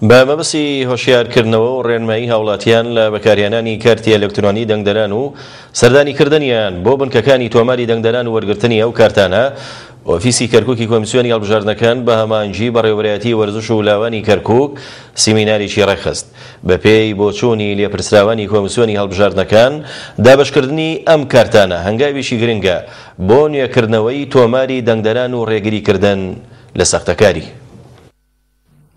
بە مەبەستی هۆشیارکردنەوە و ڕێنمایی هاوڵاتیان لە بەکارهێنانی کارتی ئەلکترۆنی دەنگدەران و سەردانیکردنیان بۆ بنکەکانی تۆماری دەنگدەران و وەرگرتنی ئەو کارتانە، ئۆفیسی کەرکوکی کۆمیسیۆنی هەڵبژاردنەکان بە هەماهەنگی بەڕێوەبەرایەتی وەرزش و لاوانی کەرکوک سیمینارێکی ڕێکخست. بەپێی بۆچوونی لێپرسراوانی کۆمیسیۆنی هەڵبژاردنەکان، دابەشکردنی ئەم کارتانە هەنگاوێکی گرنگە بۆ نوێکردنەوەی تۆماری دەنگدەران و ڕێگریکردن لە ساختەکاری.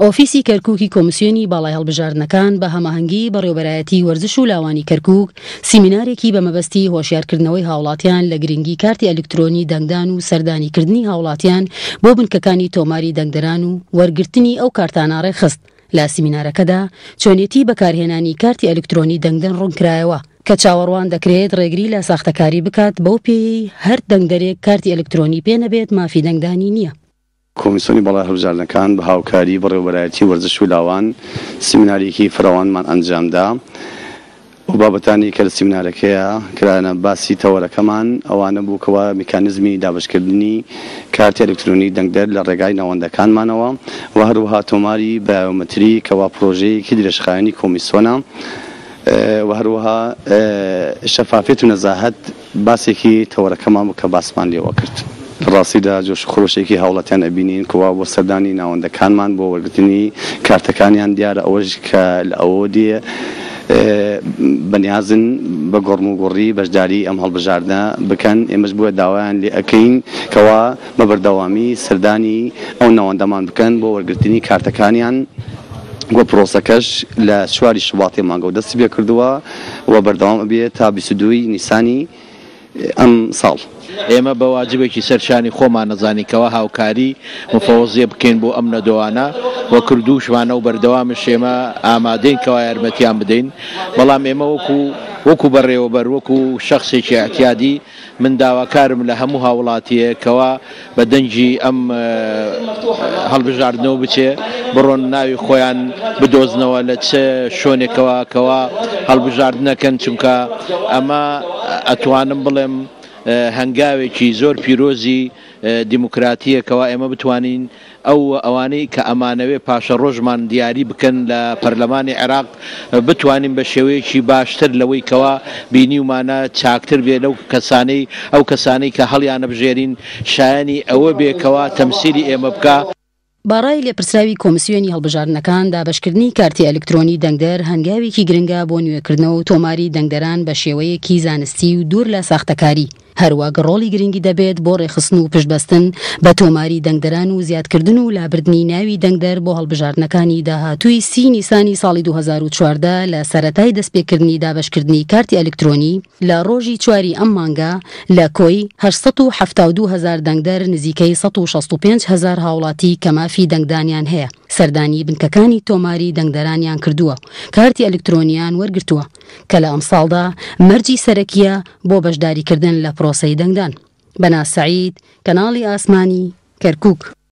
ئۆفیسی کەرکوکی کۆمسیۆنی باڵای هەڵبژاردنەکان بە هەماهەنگی بەڕێوبەرایەتی وەرزش و لاوانی کەرکوک سیمینارێکی بە مەبەستی هۆشیارکردنەوەی هاوڵاتیان لە گرنگی کارتی ئەلکترۆنی دەنگدان و سەردانیکردنی هاوڵاتیان بۆ بنکەکانی تۆماری دەنگدەران و وەرگرتنی ئەو کارتانە ڕێکخست. لە سیمینارەکەدا چۆنێتی بەکارهێنانی کارتی ئەلکترۆنی دەنگدەن ڕوونکرایەوە، کە چاوەڕوان دەکرێت ڕێگری لە ساختەکاری بکات بەو پێیەی هەر دەنگدەرێک کارتی ئەلکترۆنی پێ نەبێت مافی دەنگدانی نییە. کۆمیسۆنی باڵای هەڵبژاردنەکان بە هاوکاری بەڕێوەبەرایەتی وەرزش و لاوان سیمینارێکی فراوانمان ئەنجامدا. ئەو بابەتانەی کە لە سیمینارەکەیا کرانە باسی تەوەرەکەمان ئەوانە بوو کەوا میکانیزمی دابەشکردنی کارتی ئەلکترۆنی دەنگدەر لە ڕێگای ناوەندەکانمانەوە و هەروەها تۆماری بایۆمەتری کەوا پرۆژەیەکی درێژخایەنی کۆمیسۆنە و هەروەها شەفافیەت و نەزاهەت باسێکی تەوەرەکەمان بوو کە باسمان لێوە کرد. لە ڕاستیدا جۆش و خرۆشێکی هاوڵاتیان ئەبینین کەوا بۆ سەردانی ناوەندەکانمان بۆ وەرگرتنی کارتەکانیان دیارە ئەوەش کە لە ئەوەوە دێ بەنیازن بە گۆڕموگوڕی بەشداری ئەم هەڵبژاردنە بکەن ئێمەش بۆیە داوایان لێ ئەکەین کەوا بە بەردەوامی سەردانی ئەو ناوەندەمان بکەن بۆ وەرگرتنی کارتەکانیان و پرۆسەکەش لە چواری شوباتی مانگەوە دەستی پێکردووە و بەردەوام ئەبێ تا 22 ی نیسانی ئەم ساڵ. ئێمە بە واجبێکی سەر شانی خۆمان ئەزانین کەوا هاوکاری مفەوەزیە بکەین بۆ ئەم نەدۆانە و کردووشمانە و بەردەوامش ئێمە ئامادەین کەوا یارمەتیان بدەین بەڵام ئێمە وەکو وەکو بەڕێوەبەر وەکو شەخسێکی ئیعتیادی من داواکارم لە هەموو هاوڵاتیەک کەوا بە دەنگی ئەم هەڵبژاردنەوە بچێ بڕۆن ناوی خۆیان بدۆزنەوە لە چ شۆنێکەوە کەوا هەڵبژاردنەکەن چونکە ئەمە ئەتوانم بڵێم هەنگاوێکی زۆر پیرۆزی دیموکراتیە کەوا ئێمە بتوانین ئەو و ئەوانەی کە ئەمانەوێ پاشەڕۆژمان دیاری بکەن لە پەرلەمانی عێراق بتوانین بە شێوەیەکی باشتر لەوەی کەوا بینیومانە چاکتر بێ لەو کەسانەی ئەو کەسانەی کە هەڵیانەبژێرین شایەنی ئەوە بێ کەوا تەمسیلی ئێمە بکا. بە ڕای لێپرسراوی کۆمسیۆنی هەڵبژاردنەکان، دابەشکردنی کارتی ئەلکترۆنی دەنگدەر هەنگاوێکی گرنگە بۆ نوێکردنەوە و تۆماری دەنگدەران بە شێوەیەکی زانستی و دوور لە ساختەکاری. هەروەک ڕۆڵی گرنگی دەبێت بۆ ڕێکخستن و پشتبەستن بە تۆماری دەنگدەران و زیادکردن و لابردنی ناوی دەنگدەر بۆ هەڵبژاردنەکانی داهاتووی سی نیسانی ساڵی 2014 لە سەرەتای دەستپێکردنی دابەشکردنی کارتی ئەلکترۆنی لە ڕۆژی چواری ئەم مانگە لە کۆی 872 هەزار دەنگدەر نزیکەی 165 هەزار هاوڵاتی کە مافی دەنگدانیان هەیە سەردانی بنکەکانی تۆماری دەنگدەرانیان کردووە و کارتی ئەلکترۆنیان وەرگرتووە. کە لە ئەمساڵدا مەرجی سەرەکییە بۆ بەشداریکردن لە پرۆسەی دەنگدان. بەناز سەعید، کەناڵی ئاسمانی، کەرکوک.